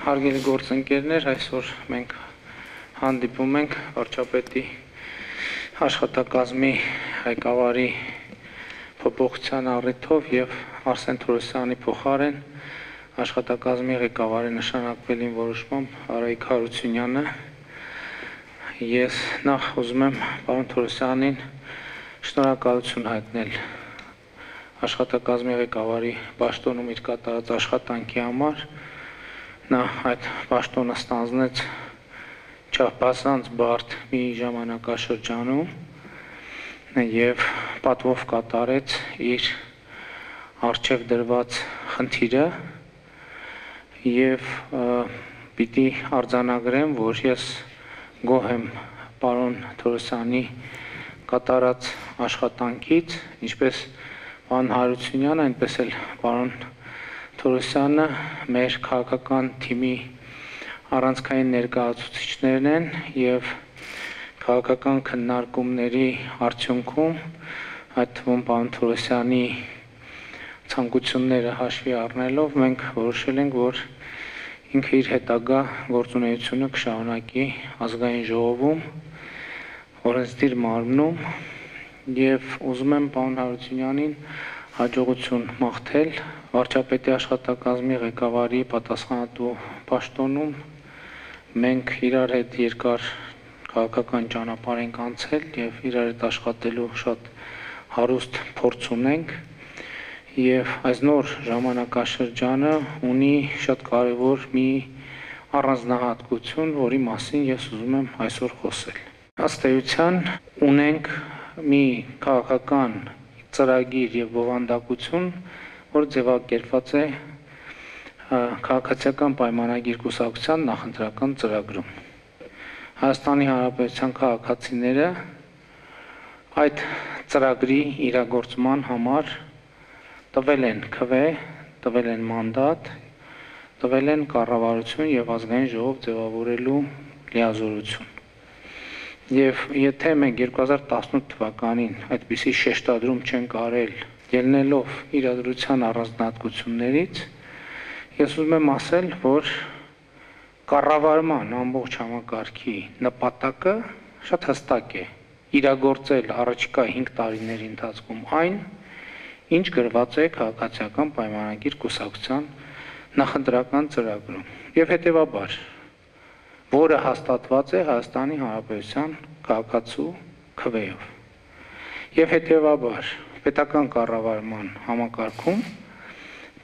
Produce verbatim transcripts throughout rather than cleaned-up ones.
Հարգելի գործընկերներ, այսօր մենք հանդիպում ենք վարչապետի աշխատակազմի ղեկավարի փոփոխության առիթով եւ Արսեն Թորոսյանի փոխարեն աշխատակազմի ղեկավարի նշանակվելին որոշմամբ Արայիկ Հարությունյանը։ Ես նախ ուզում եմ պարոն Թորոսյանին շնորհակալություն հայտնել աշխատակազմի ղեկավարի պաշտոնում իր կատարած աշխատանքի համար։ Նա այդ պաշտոնը ստանձնեց չափազանց բարդ մի ժամանակաշրջանում եւ պատվով կատարեց իր առջև դրված խնդիրը եւ պիտի արձանագրեմ, որ ես գոհ եմ պարոն Թորոսյանի կատարած աշխատանքից, ինչպես պարոն Հարությունյանը, այնպես էլ պարոն Թորոսյանը մեր քաղաքական թիմի առանցքային ներկայացուցիչներն են եւ քաղաքական քննարկումների արդյունքում այդ թվում պարոն Թորոսյանի ցանկությունները հաշվի առնելով մենք որոշել ենք, որ ինքը իր հետագա գործունեությունը կշարունակի ազգային ժողովում, օրենսդիր մարմնում եւ ուզում եմ պարոն Հարությունյանին հաջողություն մաղթել վարչապետի աշխատակազմի ղեկավարի պատասխանատու պաշտոնում։ Մենք իրար հետ երկար քաղաքական ճանապարհ ենք անցել եւ իրար հետ աշխատելու շատ հարուստ փորձ ունենք եւ այս նոր ժամանակաշրջանը ունի շատ կարեւոր մի առանձնահատկություն, որի մասին ես ուզում եմ այսօր խոսել։ Ըստ էության ունենք մի քաղաքական ծրագիր եւ բովանդակություն, որ ձևակերպված է քաղաքացիական պայմանագիր կուսակցության նախընտրական ծրագրում։ Հայաստանի Հանրապետության քաղաքացիները այդ ծրագրի իրագործման համար տվել են քվե, տվել են մանդատ, տվել են կառավարություն եւ ազգային ժողով ձևավորելու լիազորություն։ Եվ եթե մենք երկու հազար տասնութ թվականին այդպիսի շեշտադրում չենք արել, ելնելով իրադրության առանձնահատկություններից, ես ուզում եմ ասել, որ կառավարման ամբողջ համակարգի նպատակը շատ հստակ է՝ իրագործել առաջիկա հինգ տարիների ընթացքում այն, ինչ գրված է քաղաքացիական պայմանագիր կուսակցության նախընտրական ծրագրում, եւ հետեւաբար որը հաստատված է Հայաստանի Հանրապետության քաղաքացու քվեով։ Եվ հետեւաբար պետական կառավարման համակարգում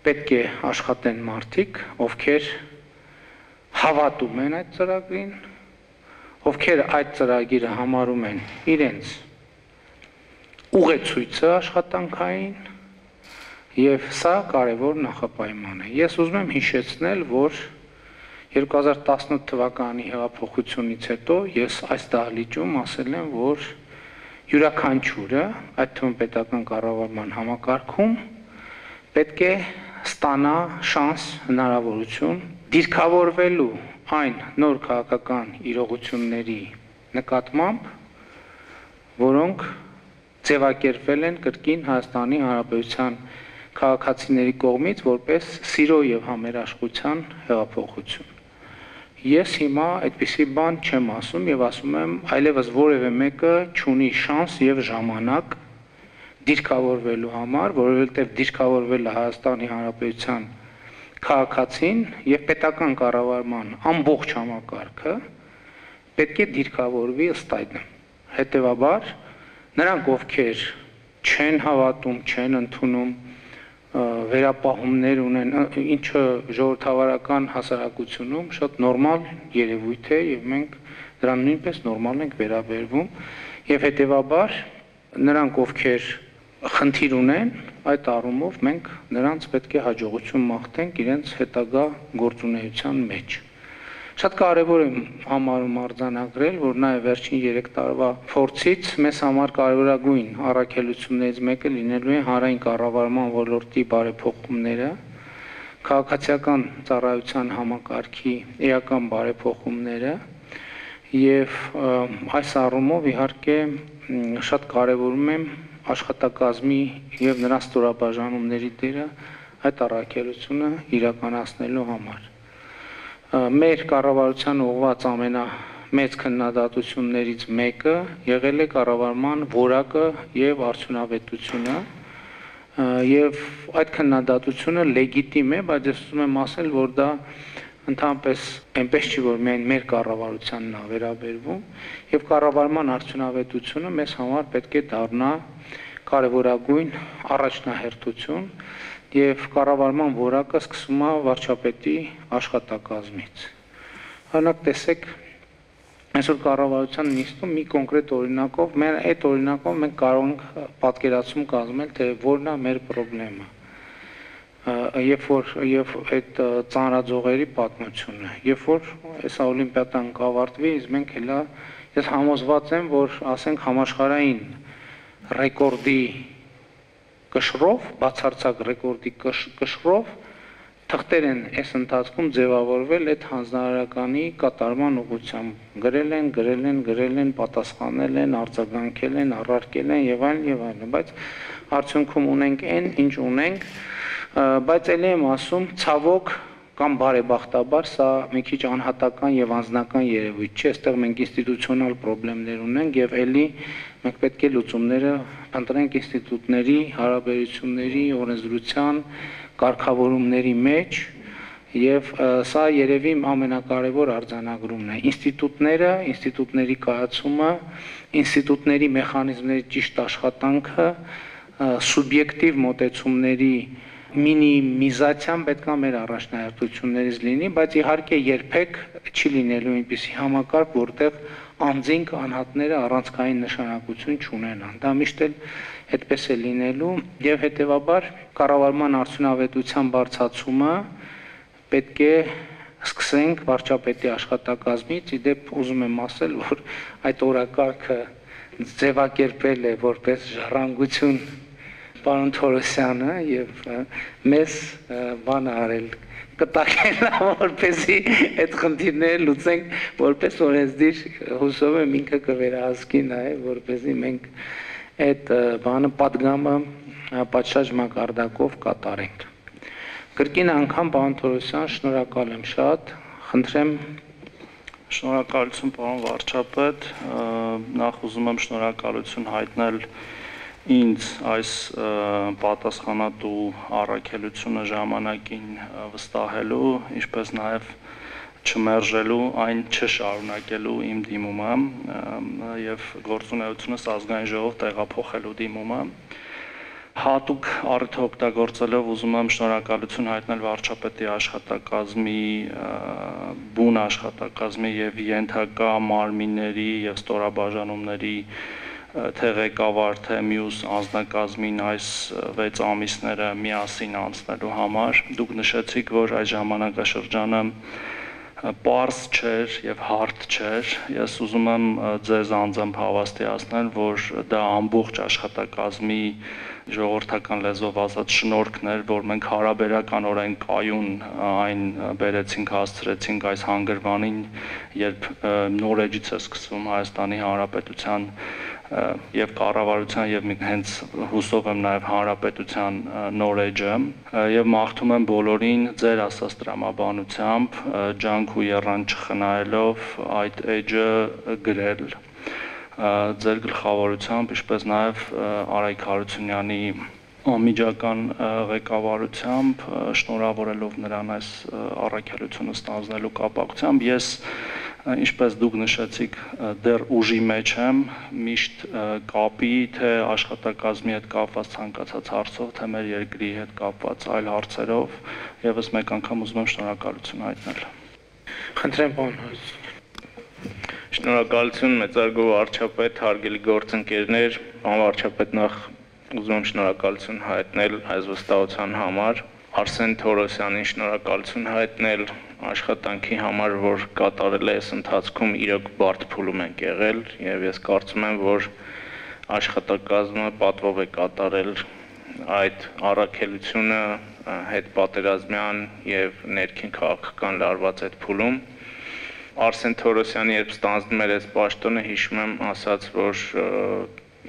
պետք է աշխատեն մարդիկ, ովքեր հավատում են այդ ծրագրին, ովքեր այդ ծրագիրը համարում են իրենց ուղեցույցը աշխատանքային, եւ սա կարեւոր նախապայման է։ Ես ուզում եմ հիշեցնել, որ երկու հազար տասնութ թվականի հեղափոխությունից հետո ես այս դահլիճում ասել եմ, որ յուրաքանչյուրը, այդ թվում պետական կառավարման համակարգում, պետք է ստանա շանս, հնարավորություն դիրքավորվելու այն նոր քաղաքական իրողությունների նկատմամբ, որոնք ձևակերպվել են կրկին Հայաստանի Հանրապետության քաղաքացիների կողմից որպես սիրո եւ համերաշխության հեղափոխություն։ Ես հիմա այդպիսի բան չեմ ասում եւ ասում եմ այլևս որևէ մեկը չունի շանս եւ ժամանակ դիրքավորվելու համար, որովհետեւ դիրքավորվելը Հայաստանի Հանրապետության քաղաքացին եւ պետական կառավարման ամբողջ համակարգը պետք է դիրքավորվի ըստ այդ։ Հետեւաբար նրանք, ովքեր չեն հավատում, չեն ընդունում, վերապահումներ ունեն, ինչը ժողովրդավարական հասարակությունում շատ նորմալ երևույթ է եւ մենք դրան նույնպես նորմալ ենք վերաբերվում եւ հետեւաբար նրանք, ովքեր խնդիր ունեն, այդ առումով մենք նրանց պետք է հաջողություն մաղթենք իրենց հետագա գործունեության մեջ։ Շատ կարեւոր է համարում արձանագրել, որ նաեւ վերջին երեք տարվա փորձից մեզ համար կարևորագույն առաքելություններից մեկը լինելու է հանրային կառավարման ոլորտի բարեփոխումները, քաղաքացիական ծառայության համակարգի էական բարեփոխումները եւ այս առումով իհարկե շատ կարեւորում եմ աշխատակազմի եւ նրա ստորաբաժանումների դերը այդ առաքելությունը իրականացնելու համար։ Մեր կառավարության ուղղված ամենամեծ քննադատություններից մեկը եղել է կառավարման որակը եւ արդյունավետությունը, եւ այդ քննադատությունը լեգիտիմ է, բայց ես ուզում եմ ասել, որ դա ընդհանրապես այնպես չի, որ միայն մեր կառավարությանն է վերաբերվում, եւ կառավարման արդյունավետությունը մեզ համար պետք է դառնա կարևորագույն առաջնահերթություն, եւ կառավարման որակը սկսում է վարչապետի աշխատակազմից։ Օրինակ տեսեք, այսօր կառավարության նիստում մի կոնկրետ օրինակով, մեր այդ օրինակով մենք կարող ենք պատկերացում կազմել, թե որն է մեր խնդրեմը։ Երբ որ եւ այդ ծանրաձողերի պատմությունը, երբ որ այս օլիմպիադան կավարտվի, մենք հելա ես համոզված եմ, որ ասենք համաշխարհային ռեկորդի կշռով, բացարձակ ռեկորդի կշռով թղթեր են այս ընթացքում ձևավորվել այդ հանձնարարականի կատարման ուղղությամբ։ Գրել են, գրել են, գրել են, պատասխանել են, արձագանքել են, առարկել են եւ այլն եւ այլն, բայց արդյունքում ունենք այն, ինչ ունենք, բայց ելի եմ ասում, ցավոք կամ բարեբախտաբար սա մի քիչ անհատական եւ անձնական երևույթ չէ, այստեղ մենք ինստիտուցիոնալ խնդիրներ ունենք եւ ելի մենք պետք է լուծումները ընտրենք ինստիտուտների, հարաբերությունների, օրենսդրության, կարգավորումների մեջ եւ սա երևի ամենակարևոր արձանագրումն է։ Ինստիտուտները, ինստիտուտների կայացումը, ինստիտուտների մեխանիզմների ճիշտ աշխատանքը, սուբյեկտիվ մոտեցումների մինիմիզացիան պետք է մեր առաջնահերթություններից լինի, բայց իհարկե երբեք չի լինելու այնպիսի համակարգ, որտեղ անձինք անհատները առանցքային նշանակություն չունենան։ Դա միշտ էլ այդպես է լինելու եւ հետեւաբար կառավարման արդյունավետության բարձրացումը պետք է սկսենք վարչապետի աշխատակազմից, իդեպ ուզում եմ ասել, որ այդ օրակարգը ձևակերպել է որպես ժառանգություն պարոն Թորոսյանը եւ մեզ բան արել կտակել, որպեսզի այդ խնդիրները լուծենք, որպես օրենսդիր հուսով եմ ինքը կվերահսկի նաեւ, որպեսզի մենք այդ բանը պատգամը պատշաճ մակարդակով կատարենք։ Կրկին անգամ պարոն Թորոսյան, շնորհակալ եմ շատ, խնդրեմ Շնորհակալություն պարոն վարչապետ, նախ ուզում եմ շնորհակալություն հայտնել ինձ այս պատասխանատու առաքելությունը ժամանակին վստահելու, ինչպես նաև չմերժելու, այն չշարունակելու իմ դիմումը եւ գործունեությունս ազգային ժողով տեղափոխելու դիմումը։ Հատուկ առիթը օգտագործելով ուզում եմ շնորհակալություն հայտնել վարչապետի աշխատակազմի, բուն աշխատակազմի եւ ենթակա մարմինների եւ ստորաբաժանումների թե ղեկավար, թե մյուս անձնակազմին այս վեց ամիսները միասին անցնելու համար։ Դուք նշեցիք, որ այս ժամանակաշրջանը պարզ չէր եւ հարթ չէր։ Ես ուզում եմ ձեզ անձամբ հավաստիացնել, որ դա ամբողջ աշխատակազմի ժողովրդական լեզվով ասած շնորհքն էր, որ մենք հարաբերականորեն կայուն այն բերեցինք, հասցրեցինք այս հանգրվանին, երբ նոր էջից է սկսվում Հայաստանի Հանրապետության եւ կառավարության եւ հենց հուսով եմ նաեւ հանրապետության նոր էջը եւ մաղթում եմ բոլորին ձեր ասած տրամաբանությամբ ջանք ու եռան չխնայելով այդ էջը գրել ձեր գլխավորությամբ, ինչպես նաեւ Արայք Հարությունյանի անմիջական ղեկավարությամբ, շնորհավորելով նրան այս առաքելությունը ստանձնելու կապակցությամբ, ես ինչպես դուք նշեցիք, դեռ ուժի մեջ եմ, միշտ կապի, թե աշխատակազմի հետ կապված ցանկացած հարցով, թե մեր երկրի հետ կապված այլ հարցերով, եւս մեկ անգամ ուզում եմ շնորհակալություն հայտնել։ Խնդրեմ պարոն Շնորհակալություն մեծարգո վարչապետ, հարգելի գործընկերներ, պարոն վարչապետ, նախ ուզում եմ շնորհակալություն հայտնել այս վստահության համար, Արսեն Թորոսյանին շնորհակալություն հայտնել աշխատանքի համար, որ կատարել է այս ընթացքում, իրոք բարդ փուլում ենք եղել եւ ես կարծում եմ, որ աշխատակազմը պատվով է կատարել այդ առաքելությունը հետ պատերազմյան եւ ներքին քաղաքական լարված այդ փուլում։ Արսեն Թորոսյանը երբ ստանձնում էր այս պաշտոնը, հիշում եմ, ասաց, որ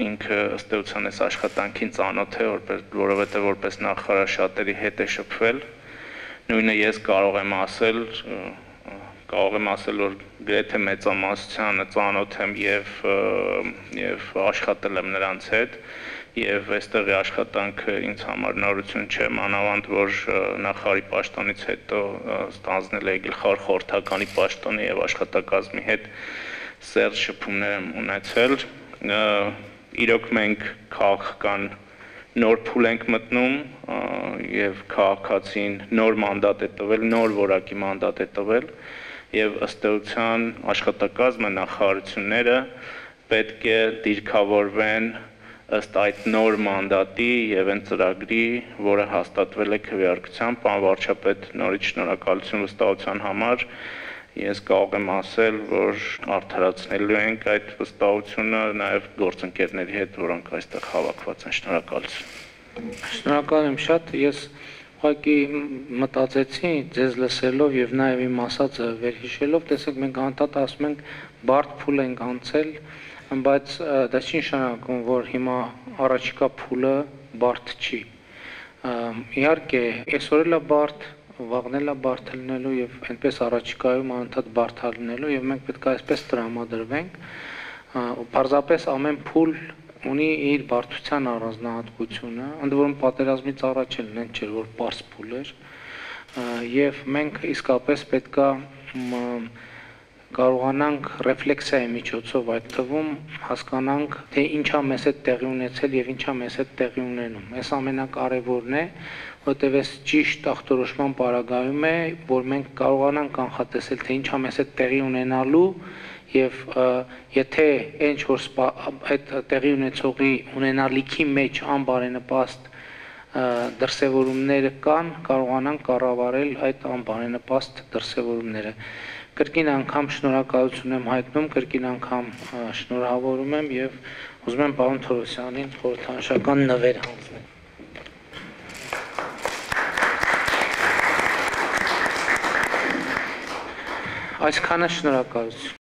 ինքը ըստ էության այս աշխատանքին ծանոթ է, որովհետեւ որպես նախարար շատերի հետ է շփվել։ Նույնը ես կարող եմ ասել կարող եմ ասել, որ գրեթե մեծամասնությանը ծանոթ եմ եւ եւ աշխատել եմ նրանց հետ եւ այստեղի աշխատանքը ինձ համար նորություն չէ, մանավանդ որ նախարարի պաշտոնից հետո ստանձնել էի գլխավոր խորհրդականի պաշտոնի եւ աշխատակազմի հետ սերտ շփումներ եմ ունեցել։ Իրոք մենք քաղաքական նոր փուլ ենք մտնում եւ քաղաքացին նոր մանդատ է տվել, նոր որակի մանդատ է տվել եւ ըստ էության աշխատակազմը, նախարարությունները պետք է դիրքավորվեն ըստ այդ նոր մանդատի եւ այն ծրագրի, որը հաստատվել է քվեարկությամբ, պարոն վարչապետ, նորից շնորհակալություն վստահության համար։ Ես կարող եմ ասել, որ արդարացնելու ենք այդ վստահությունը նաեւ գործընկերների հետ, որոնք այստեղ հավաքված են։ Շնորհակալություն։ Շնորհակալ եմ շատ, ես ուղղակի մտածեցի ձեզ լսելով եւ նաեւ իմ ասածը վերհիշելով, տեսեք մենք անդադ ասում ենք բարդ փուլ ենք անցել, բայց դա չի նշանակում, որ հիմա առաջիկա փուլը բարդ չի։ Իհարկե, այսօր էլ է բարդ, վաղն էլ է բարդ լինելու եւ այնպես առաջիկայում անդադ բարդ լինելու եւ մենք պետք է այսպես տրամադրվենք։ Պարզապես ամեն փուլ ունի իր բարդության առանձնահատկությունը, ընդ որում պատերազմից առաջ էլ նենց չէր, որ պարզ փուլ էր, եւ մենք իսկապես պետք է կարողանանք ռեֆլեքսիայի միջոցով այդ թվում հասկանանք, թե ինչա մեզ հետ տեղի ունեցել եւ ինչա մեզ հետ տեղի ունենում։ Այս ամենակարևորն է, որտեղ այս ճիշտ ախտորոշման պարագայում է, որ մենք կարողանանք կանխատեսել, թե ինչա մեզ հետ տեղի ունենալու եւ եթե ինչ որ այդ տեղի ունեցողի ունենալիքի մեջ անբարենպաստ դրսևորումները կան, կարողանանք կառավարել այդ անբարենպաստ դրսևորումները։ Կրկին անգամ շնորհակալություն եմ հայտնում, կրկին անգամ շնորհավորում եմ եւ ուզում եմ պարոն Թորոսյանին խորհրդանշական նվեր հանձնել։ Այսքանը շնորհակալություն։